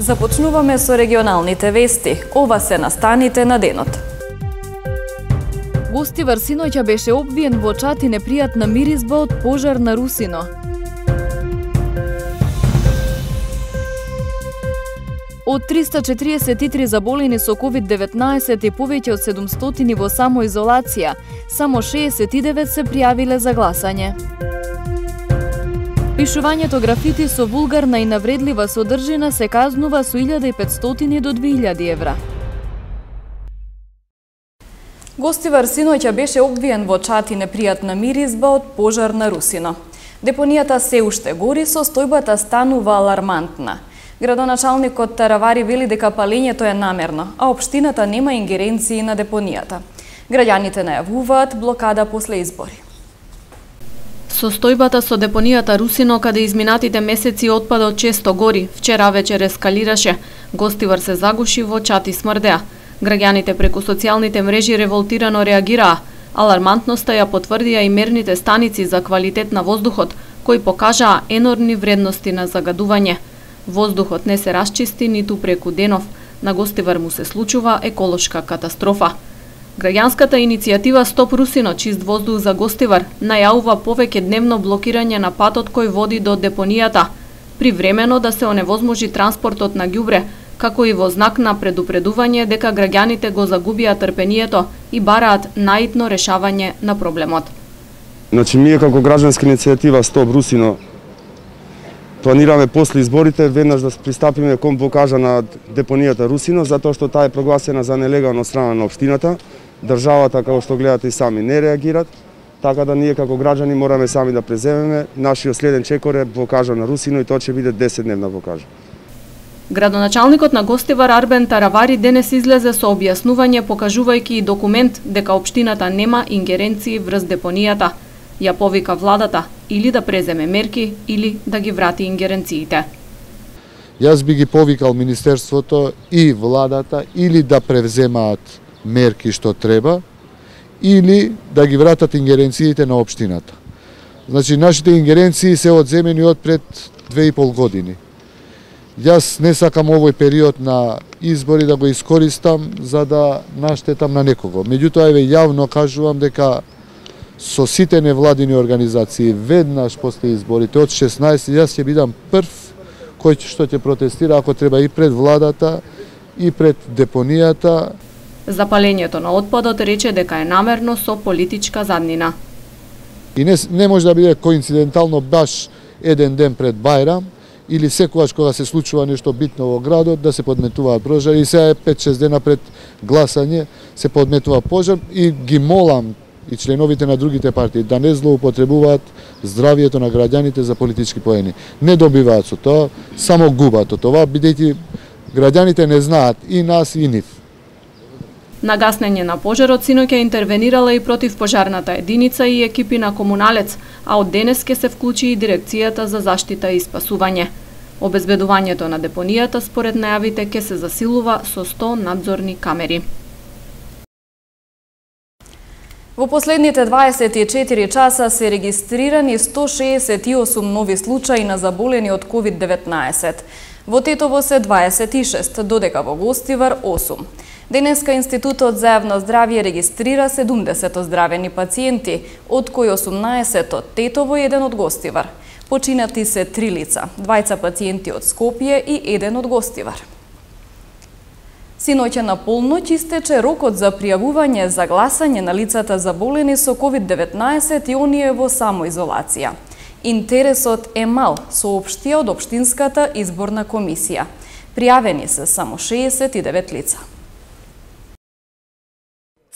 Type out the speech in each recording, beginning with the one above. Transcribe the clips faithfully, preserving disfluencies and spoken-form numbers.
Започнуваме со регионалните вести. Ова се настаните на денот. Гостивар синоќа беше обвиен во чат и непријатна миризба од пожар на Русино. Од триста четириесет и три заболени со ковид деветнаесет и повеќе од седумстотини во самоизолација, само шеесет и девет се пријавиле за гласање. Пишувањето графити со вулгарна и навредлива содржина се казнува со илјада и петстотини до две илјади евра. Гостивар синоќа беше обвиен во чат и непријатна миризба од пожар на Русино. Депонијата се уште гори, состојбата станува алармантна. Градоначалникот Таравари вели дека палењето е намерно, а општината нема ингеренции на депонијата. Граѓаните најавуваат блокада после избори. Состојбата со депонијата Русино, каде изминатите месеци отпадот често гори, вчера вечер ескалираше. Гостивар се загуши во чат и смрдеа. Граѓаните преку социјалните мрежи револтирано реагираа. Алармантноста ја потврдија и мерните станици за квалитет на воздухот, кои покажаа енормни вредности на загадување. Воздухот не се расчисти ниту преку денов. На Гостивар му се случува еколошка катастрофа. Граѓанската иницијатива Стоп Русино, чист воздух за Гостивар, најавува повеќе дневно блокирање на патот кој води до депонијата, привремено да се оневозможи транспортот на ѓубре, како и во знак на предупредување дека граѓаните го загубија трпението и бараат наитно решавање на проблемот. Значи, ние како граѓанска иницијатива Стоп Русино планираме после изборите веднаш да пристапиме кон блокажа на депонијата Русино, затоа што таа е прогласена за нелегална од страна на општината. Државата, како што гледате и сами, не реагират, така да ние како граѓани мораме сами да преземеме. Нашиот следен чекор е блокажа на Русино и тоа ќе биде десетдневна блокажа. Градоначалникот на Гостивар Арбен Таравари денес излезе со објаснување покажувајќи и документ дека општината нема ингеренции врз депонијата. Ја повика владата или да преземе мерки или да ги врати ингеренциите. Јас би ги повикал Министерството и владата или да превземаат мерки што треба, или да ги вратат ингеренциите на општината. Значи, нашите ингеренции се одземени од пред две и пол години. Јас не сакам овој период на избори да го искористам за да наштетам на некого. Меѓутоа, еве јавно кажувам дека со сите невладини организации веднаш после изборите од шеснаесет јас ќе бидам прв кој што ќе протестира ако треба и пред владата и пред депонијата. Запалењето на отпадот рече дека е намерно со политичка заднина. И не, не може да биде коинцидентално баш еден ден пред Бајрам или секогаш кога се случува нешто битно во градот да се подметуваат пожари, и сега е пет-шест дена пред гласање се подметува пожар, и ги молам и членовите на другите партии да не злоупотребуваат здравието на граѓаните за политички поени. Не добиваат со тоа, само губат од тоа, бидејќи граѓаните не знаат и нас и нив. На гаснење на пожарот синоќа интервенирала и противпожарната единица и екипи на Комуналец, а од денес ке се вклучи и дирекцијата за заштита и спасување. Обезбедувањето на депонијата според најавите ке се засилува со сто надзорни камери. Во последните дваесет и четири часа се регистрирани сто шеесет и осум нови случаи на заболени од ковид деветнаесет. Во Тетово се дваесет и шест, додека во Гостивар осум. Денеска Институтот за јавно здравје регистрира седумдесет оздравени пациенти, од кои осумнаесет од Тетово и еден од Гостивар. Починати се три лица, двајца пациенти од Скопје и еден од Гостивар. Синоќа на полноќ истече рокот за пријавување за гласање на лицата заболени со ковид деветнаесет и оние во самоизолација. Интересот е мал, соопштија од Општинската изборна комисија. Пријавени се само шеесет и девет лица.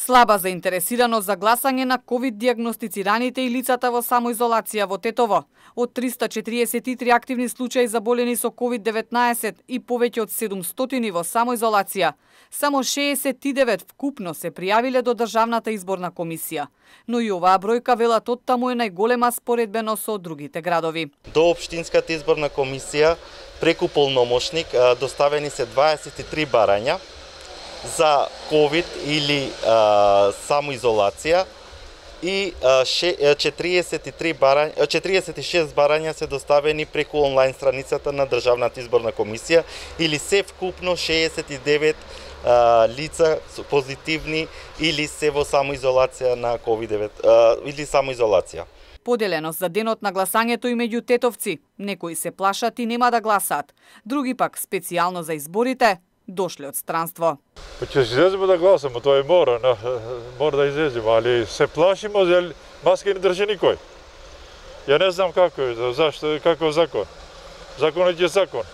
Слаба заинтересираност за гласање на ковид дијагностицираните и лицата во самоизолација во Тетово. Од триста четириесет и три активни случаи заболени со ковид деветнаесет и повеќе од седумстотини во самоизолација, само шеесет и девет вкупно се пријавиле до Државната изборна комисија. Но и оваа бројка велат оттаму е најголема споредбено со другите градови. До Општинската изборна комисија преку полномошник доставени се дваесет и три барања за ковид или а, самоизолација и четириесет и три барања, четириесет и шест барања се доставени преку онлайн страницата на Државната изборна комисија, или се вкупно шеесет и девет а, лица позитивни или се во самоизолација на ковид деветнаесет или самоизолација. Поделеност за денот на гласањето и меѓу тетовци. Некои се плашат и нема да гласаат. Други пак специјално за изборите дошле од странство. Па ќе излеземе да гласаме, тоа е мора, на, мора да излеземе, али се плашимо, зел маска не држи никој. Ја не знам како е, зашто, како е закон. Законот е закон.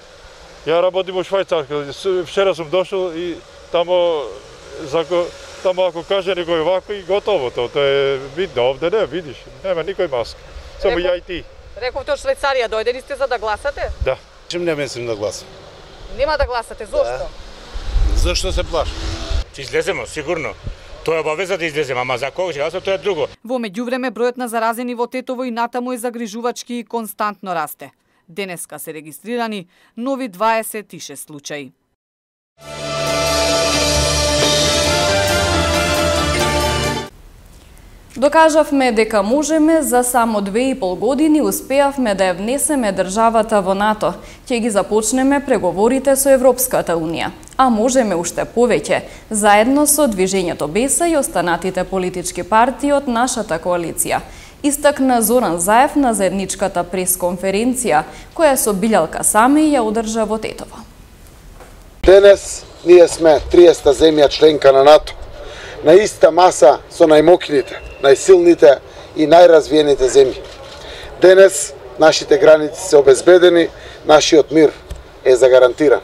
Ја работим во Швајцарска, вчера сум дошол и тамо, закон, тамо ако каже некој вако и готово, тоа е видно, овде не, видиш, нема никој маска, само ја и ти. Рековте од Швајцарија, дојдени сте за да гласате? Да. Чим не мислим да гласам. Нема да гласате, зошто? Да. Зашто се плашам? Ќе излеземе, сигурно. Тоа е обавеза да излеземе, ама за кога ќе гласаме, тоа е друго. Во меѓувреме бројот на заразени во Тетово и натаму е загрижувачки и константно расте. Денеска се регистрирани нови дваесет и шест случаи. Докажавме дека можеме, за само две и пол години успеавме да ја внесеме државата во НАТО. Ќе ги започнеме преговорите со Европската Унија. А можеме уште повеќе, заедно со Движењето Беса и останатите политички партии од нашата коалиција. Истакна Зоран Заев на заедничката пресконференција, која со Билјалка Сами ја одржа во Тетово. Денес ние сме триесета земја членка на НАТО. На иста маса со најмокните, најсилните и најразвиените земји. Денес нашите граници се обезбедени, нашиот мир е загарантиран.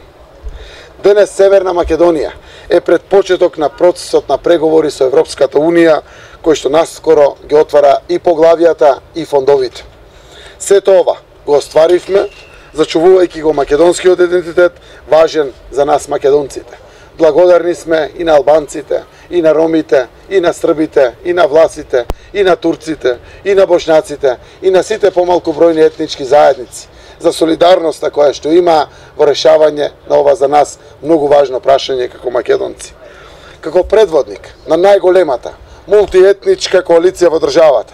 Денес Северна Македонија е пред почеток на процесот на преговори со Европската Унија, кој што наскоро ги отвара и поглавијата и фондовите. Сето ова го остваривме, зачувувајќи го македонскиот идентитет, важен за нас македонците. Благодарни сме и на албанците, и на ромите, и на србите, и на власите, и на турците, и на бошњаците, и на сите помалку бројни етнички заедници за солидарноста која што има во решавање на ова за нас многу важно прашање како македонци. Како предводник на најголемата мултиетничка коалиција во државата,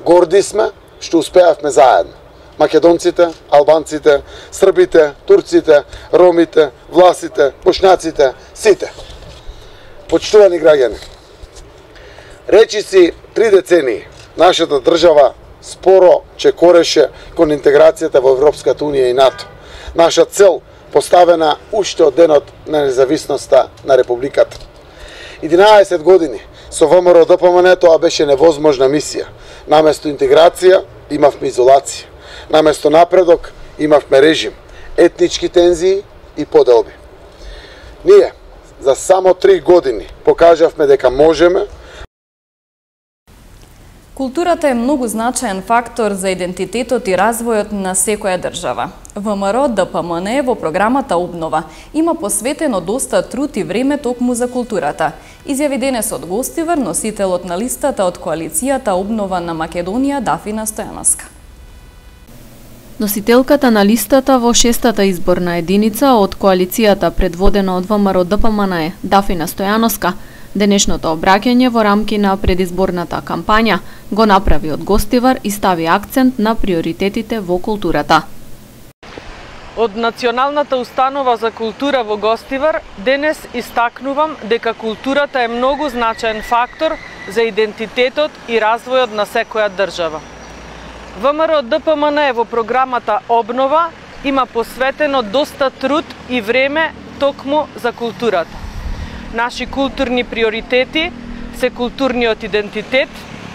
горди сме што успеавме заедно. Македонците, албанците, србите, турците, ромите, власите, бошњаците, сите. Почитувани граѓани, речиси три децении нашата држава споро чекореше кон интеграцијата во Европската Унија и НАТО. Наша цел поставена уште од денот на независноста на Републиката. единаесет години со ВМРО Д П М Н тоа беше невозможна мисија. Наместо интеграција имавме изолација. Наместо напредок имавме режим, етнички тензии и поделби. Ние за само три години покажавме дека можеме. Културата е многу значаен фактор за идентитетот и развојот на секоја држава. ВМРО Д П М Н во програмата Обнова има посветено доста труд и време токму за културата. Изјави денес од гостивар носителот на листата од коалицијата Обнова на Македонија Дафина Стојановска. Носителката на листата во шестата изборна единица од коалицијата предводена од ВМРО Д П М Н е Дафина Стојановска, денешното обраќање во рамки на предизборната кампања го направи од гостивар и стави акцент на приоритетите во културата. Од Националната установа за култура во Гостивар денес истакнувам дека културата е многу значаен фактор за идентитетот и развојот на секоја држава. ВМРО Д П М Н во програмата Обнова има посветено доста труд и време токму за културата. Наши културни приоритети се културниот идентитет,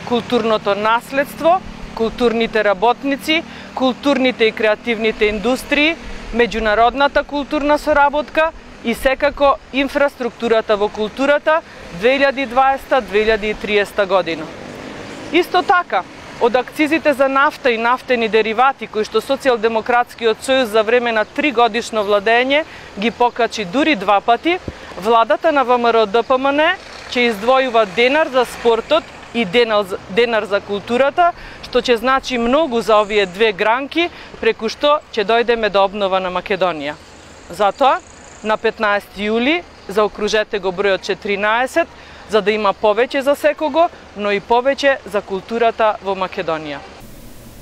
културното наследство, културните работници, културните и креативните индустрии, меѓународната културна соработка и секако инфраструктурата во културата две илјади и дваесета до две илјади и триесета година. Исто така, од акцизите за нафта и нафтени деривати кои што Социјалдемократскиот сојуз за време на три годишно владење ги покачи дури два пати, владата на ВМРО Д П М Н ќе издвојува денар за спортот и денар за културата, што ќе значи многу за овие две гранки, преку што ќе дојдеме до обнова на Македонија. Затоа, на петнаесети јули, заокружете го бројот четиринаесет, за да има повеќе за секого, но и повеќе за културата во Македонија.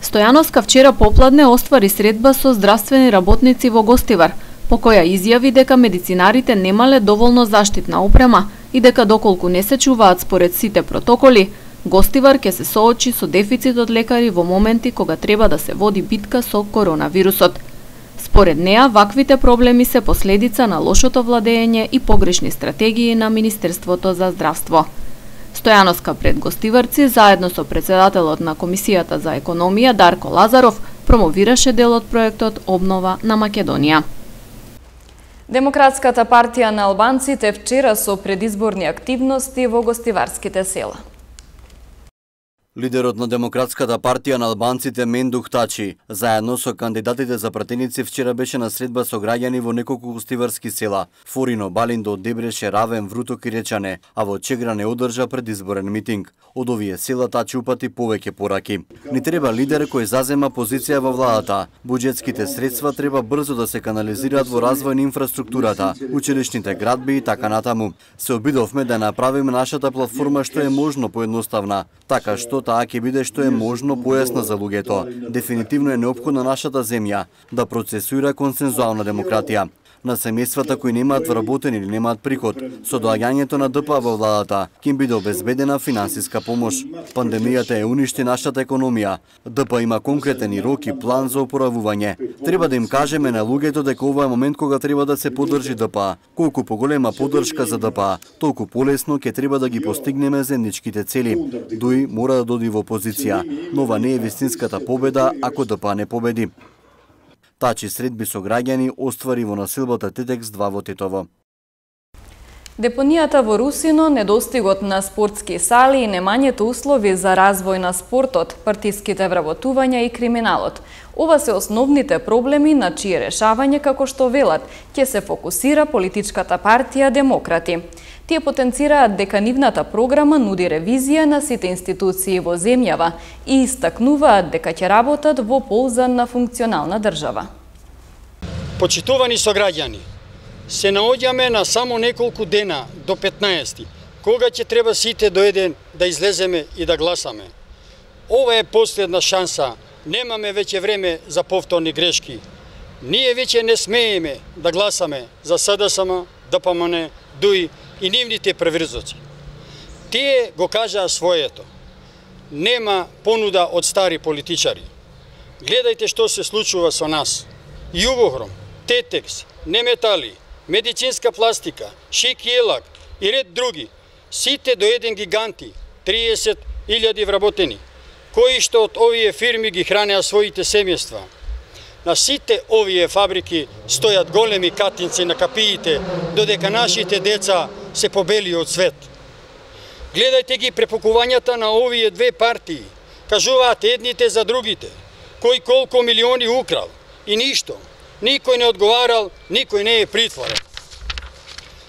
Стојановска вчера попладне оствари средба со здравствени работници во Гостивар, по која изјави дека медицинарите немале доволно заштитна опрема и дека доколку не се чуваат според сите протоколи, Гостивар ќе се соочи со дефицит од лекари во моменти кога треба да се води битка со коронавирусот. Според неа, ваквите проблеми се последица на лошото владење и погрешни стратегии на Министерството за здравство. Стојановска пред гостиварци, заедно со председателот на Комисијата за економија Дарко Лазаров, промовираше дел од проектот Обнова на Македонија. Демократската партија на албанците вчера со предизборни активности во гостиварските села. Лидерот на Демократската партија на албанците Мендух Тачи, заедно со кандидатите за пратеници вчера беше на средба со граѓани во неколку гостиварски села: Форино, Балиндо, Дебреше, Равен, Вруток и Речане, а во Чегра не одржа предизборен митинг. Од овие села Тачи упати повеќе пораки. Ни треба лидер кој зазема позиција во владата. Буџетските средства треба брзо да се канализираат во развој на инфраструктурата, училишните градби и така натаму. Се обидовме да направиме нашата платформа што е можно поедноставна, така што таа ќе биде што е можно појасна за луѓето. Дефинитивно е неопходна нашата земја да процесуира консензуална демократија. На семејствата кои немаат вработен или немаат приход, со доаѓањето на ДПА во владата ќе им биде обезбедена финансиска помош. Пандемијата е уништи нашата економија. ДПА има конкретен и рок и план за опоравување. Треба да им кажеме на луѓето дека ова е момент кога треба да се поддржи ДПА. Колку поголема поддршка за ДПА, толку полесно ќе треба да ги постигнеме заедничките цели. Дуи мора да доди во опозиција, но ова не е вистинската победа ако ДПА не победи. Тачи средби со граѓани оствари во населбата Тетекс два во Тетово. Депонијата во Русино, недостигот на спортски сали и немањето услови за развој на спортот, партиските вработувања и криминалот. Ова се основните проблеми на чие решавање, како што велат, ќе се фокусира политичката партија Демократи. Тие потенцираат дека нивната програма нуди ревизија на сите институции во земјава и истакнуваат дека ќе работат во полза на функционална држава. Почитувани сограѓани, се наоѓаме на само неколку дена до петнаесети, кога ќе треба сите до еден да излеземе и да гласаме. Ова е последна шанса, немаме веќе време за повторни грешки. Ние веќе не смееме да гласаме за СДСМ, ДПМН, ДУИ и нивните преврзоци. Тие го кажаа своето. Нема понуда од стари политичари. Гледајте што се случува со нас. Југохром, Тетекс, Неметали, медицинска пластика, Шик и Елак и ред други. Сите до еден гиганти, триесет илјади вработени, кои што од овие фирми ги хранеа своите семејства. На сите овие фабрики стојат големи катинци на капиите, додека нашите деца се побели од свет. Гледајте ги препукувањата на овие две партии. Кажуваат едните за другите, кој колку милиони украл и ништо. Никој не одговарал, никој не е притворен.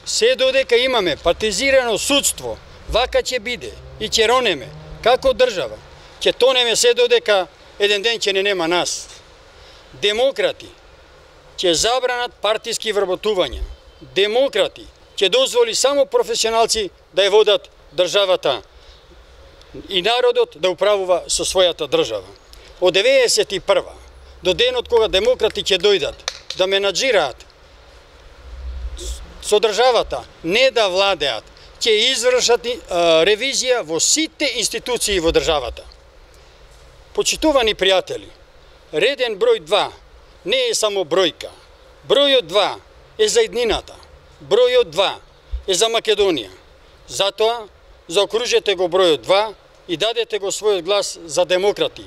Се додека имаме партизирано судство, вака ќе биде и ќе ронеме, како држава, ќе тонеме се додека еден ден ќе не нема нас. Демократи ќе забранат партиски вработувања. Демократи ќе дозволи само професионалци да ја водат државата и народот да управува со својата држава. Од деветдесет и прва до денот кога демократи ќе дојдат да менаџираат со државата, не да владеат, ќе извршат ревизија во сите институции во државата. Почитувани пријатели, реден број два не е само бројка. Бројот два е за иднината. Бројот два е за Македонија. Затоа, заокружете го бројот два и дадете го својот глас за демократи.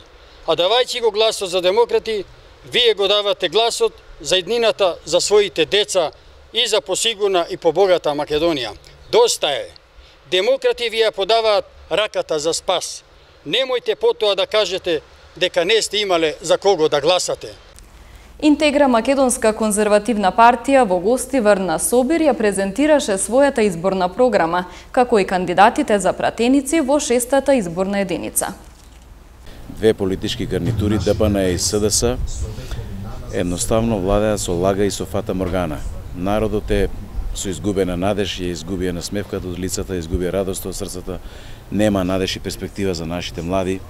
А давајќи го гласот за демократи, вие го давате гласот за иднината за своите деца и за посигурна и побогата Македонија. Доста е. Демократи ви ја подаваат раката за спас. Немојте потоа да кажете дека не сте имале за кого да гласате. Интегра Македонска конзервативна партија во Гостивар на Собир ја презентираше својата изборна програма, како и кандидатите за пратеници во шестата изборна единица. Две политички гарнитури, ДПН и СДС, едноставно владеат со лага и со фата моргана. Народот е со изгубена надеж, ја изгубија насмевката од лицата, изгубија радост од срцата, нема надеж и перспектива за нашите млади.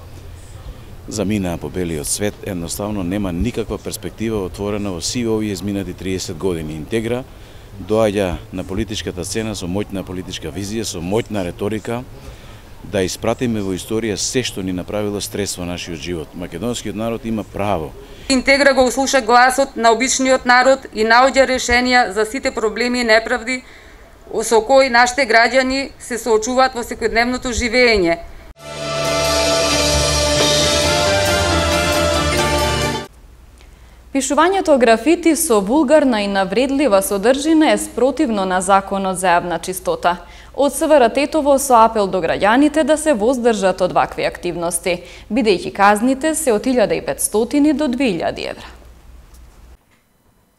Заминаа по белиот свет, едноставно нема никаква перспектива отворена во сивите овие изминати триесет години. Интегра доаѓа на политичката сцена со моќна политичка визија, со моќна реторика, да испратиме во историја се што ни направило стрес во нашиот живот. Македонскиот народ има право. Интегра го услуша гласот на обичниот народ и наоѓа решенија за сите проблеми и неправди со кои нашите граѓани се соочуваат во секојдневното живење. Пишувањето графити со вулгарна и навредлива содржина е спротивно на Законот за јавна чистота. Од СВР Тетово со апел до граѓаните да се воздржат од вакви активности, бидејќи казните се од илјада и петстотини до две илјади евра.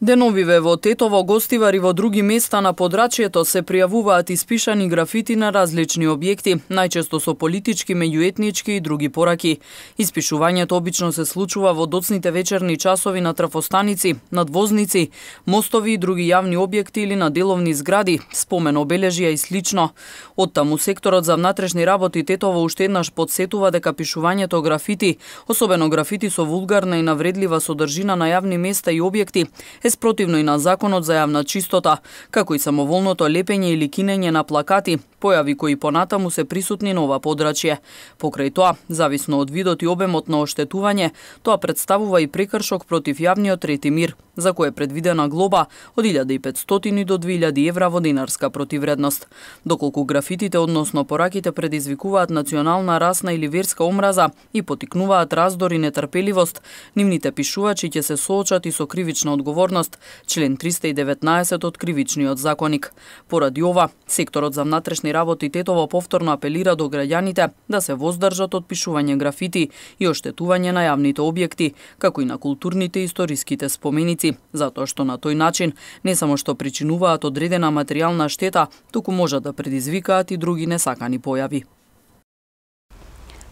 Деновиве во Тетово, Гостивар и во други места на подрачјето се пријавуваат испишани графити на различни објекти, најчесто со политички, меѓуетнички и други пораки. Испишувањето обично се случува во доцните вечерни часови на трафостаници, надвозници, мостови и други јавни објекти или на деловни згради, спомен обележја и слично. Оттаму секторот за внатрешни работи Тетово уште еднаш подсетува дека пишувањето графити, особено графити со вулгарна и навредлива содржина на јавни места и објекти, е спротивно и на Законот за јавна чистота, како и самоволното лепење или кинење на плакати, појави кои понатаму се присутни на ова подрачје. Покрај тоа, зависно од видот и обемот на оштетување, тоа представува и прекршок против јавниот ред и мир, за кој е предвидена глоба од илјада и петстотини до две илјади евра во динарска противредност. Доколку графитите, односно пораките, предизвикуваат национална, расна или верска омраза и потикнуваат раздор и нетрпеливост, нивните пишувачи ќе се соочат и со кривична одговорност, член триста и деветнаесет од Кривичниот законник. Поради ова, секторот за внатрешни работи Тетово повторно апелира до граѓаните да се воздржат од пишување графити и оштетување на јавните објекти, како и на културните и историските споменици, затоа што на тој начин не само што причинуваат одредена материјална штета, туку можат да предизвикаат и други несакани појави.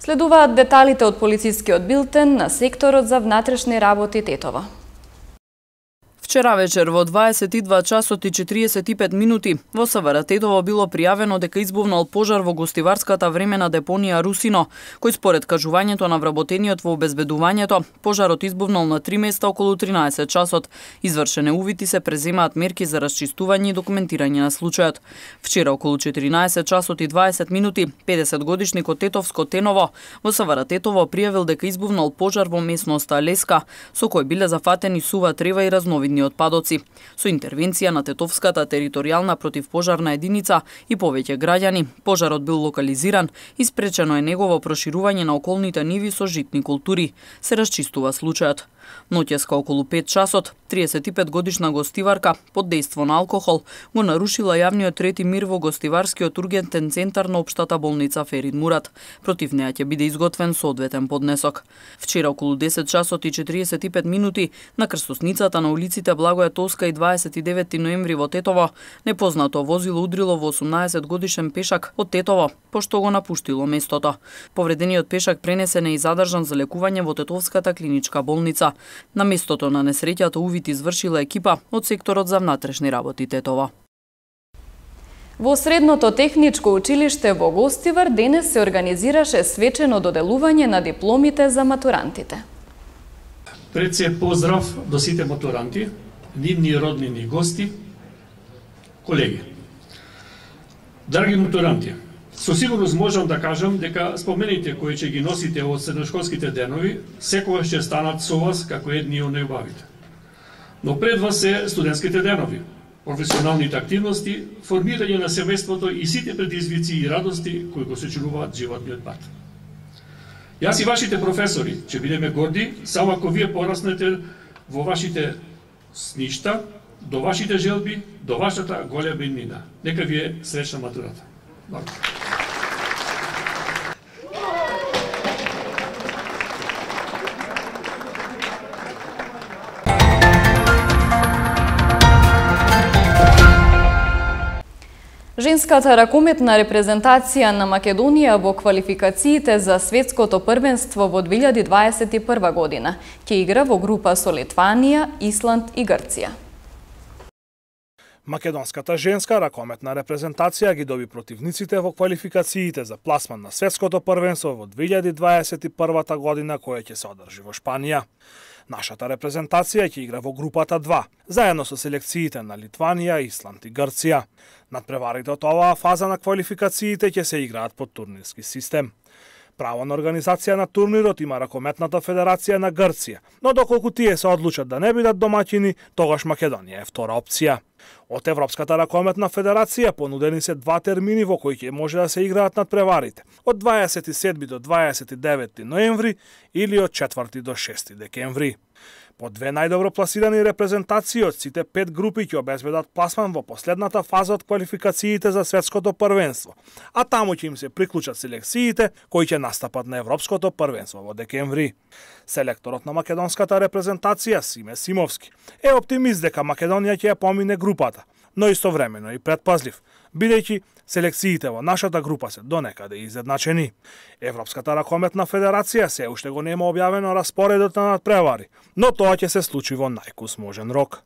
Следуваат деталите од полицискиот билтен на секторот за внатрешни работи Тетово. Вчера вечер во дваесет и два часот и четириесет и пет минути во СВР Тетово било пријавено дека избувнал пожар во гостиварската времена депонија Русино, кој според кажувањето на вработениот во обезбедувањето, пожарот избувнал на три места околу тринаесет часот. Извршене увити се преземаат мерки за расчистување и документирање на случајот. Вчера околу четиринаесет часот и дваесет минути, педесет годишникот Тетовско Теново во СВР Тетово пријавил дека избувнал пожар во местноста Леска, со кој биле зафатени сува трева и разновидни отпадоци. Со интервенција на Тетовската територијална противпожарна единица и повеќе граѓани, пожарот бил локализиран и спречено е негово проширување на околните ниви со житни култури. Се расчистува случајот. Ноќеска околу пет часот, триесет и пет годишна гостиварка под дејство на алкохол го нарушила јавниот ред и мир во гостиварскиот ургентен центар на општата болница Ферид Мурат. Против неа ќе биде изготвен соодветен поднесок. Вчера околу десет часот и четириесет и пет минути на крстосницата на улиците Благоја Тоска и дваесет и деветти ноември во Тетово, непознато возило удрило во осумнаесет годишен пешак од Тетово, пошто го напуштило местото. Повредениот пешак пренесен е и задржан за лекување во Тетовската клиничка болница. На местото на несреќата увид извршила екипа од секторот за внатрешни работи Тетово. Во Средното техничко училиште во Гостивар денес се организираше свечено доделување на дипломите за матурантите. Пред се поздрав до сите матуранти, нивни роднини гости, колеги. Драги матуранти, со сигурност можам да кажам дека спомените кои ќе ги носите од средношколските денови секогаш ќе станат со вас како едни од најубавите. Но пред вас се студентските денови, професионалните активности, формирање на семејството и сите предизвици и радости кои го сочинуваат животниот пат. Јас и вашите професори ќе бидеме горди само ако вие пораснете во вашите сништа, до вашите желби, до вашата голема иднина. Нека ви е среќна матурата. Благодарам. Женската ракометна репрезентација на Македонија во квалификациите за светското првенство во две илјади дваесет и прва година ќе игра во група со Литванија, Исланд и Грција. Македонската женска ракометна репрезентација ги доби противниците во квалификациите за пласман на светското првенство во две илјади дваесет и прва година, која ќе се одржи во Шпанија. Нашата репрезентација ќе игра во групата два, заедно со селекциите на Литванија, Исланд и Грција. Надпреварите од оваа фаза на квалификациите ќе се играат по турнирски систем. Право на организација на турнирот има Ракометната федерација на Грција, но доколку тие се одлучат да не бидат домаќини, тогаш Македонија е втора опција. Од Европската ракометна федерација понудени се два термини во кои ќе може да се играат надпреварите, од дваесет и седми до дваесет и девети ноември или од четврти до шести декември. По две најдобро пласирани репрезентации од сите пет групи ќе обезбедат пласман во последната фаза од квалификациите за светското првенство, а таму ќе им се приклучат селекциите кои ќе настапат на Европското првенство во декември. Селекторот на македонската репрезентација Симе Симовски е оптимист дека Македонија ќе ја помине групата, но истовремено и предпазлив, бидејќи селекциите во нашата група се донекаде изедначени. Европската ракометна федерација се уште го нема објавено распоредот на надпревари, но тоа ќе се случи во најкус можен рок.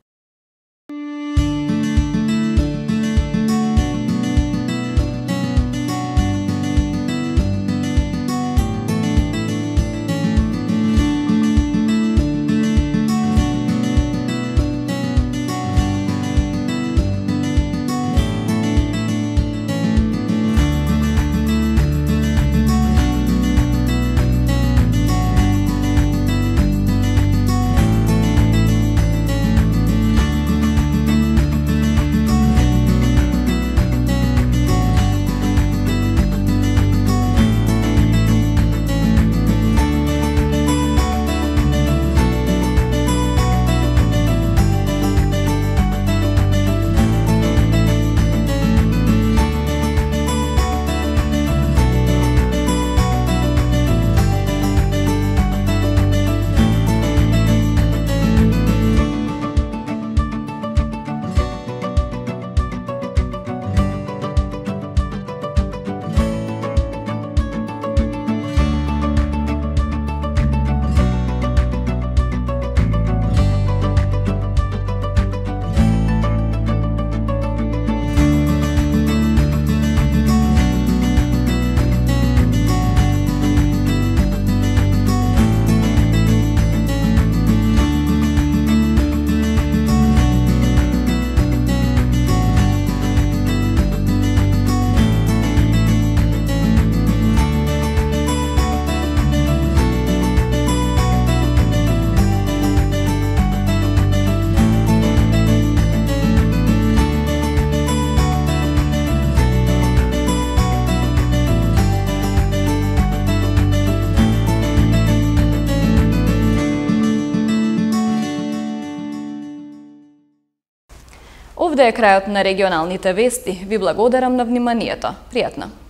Овде е крајот на регионалните вести. Ви благодарам на вниманието. Пријатно!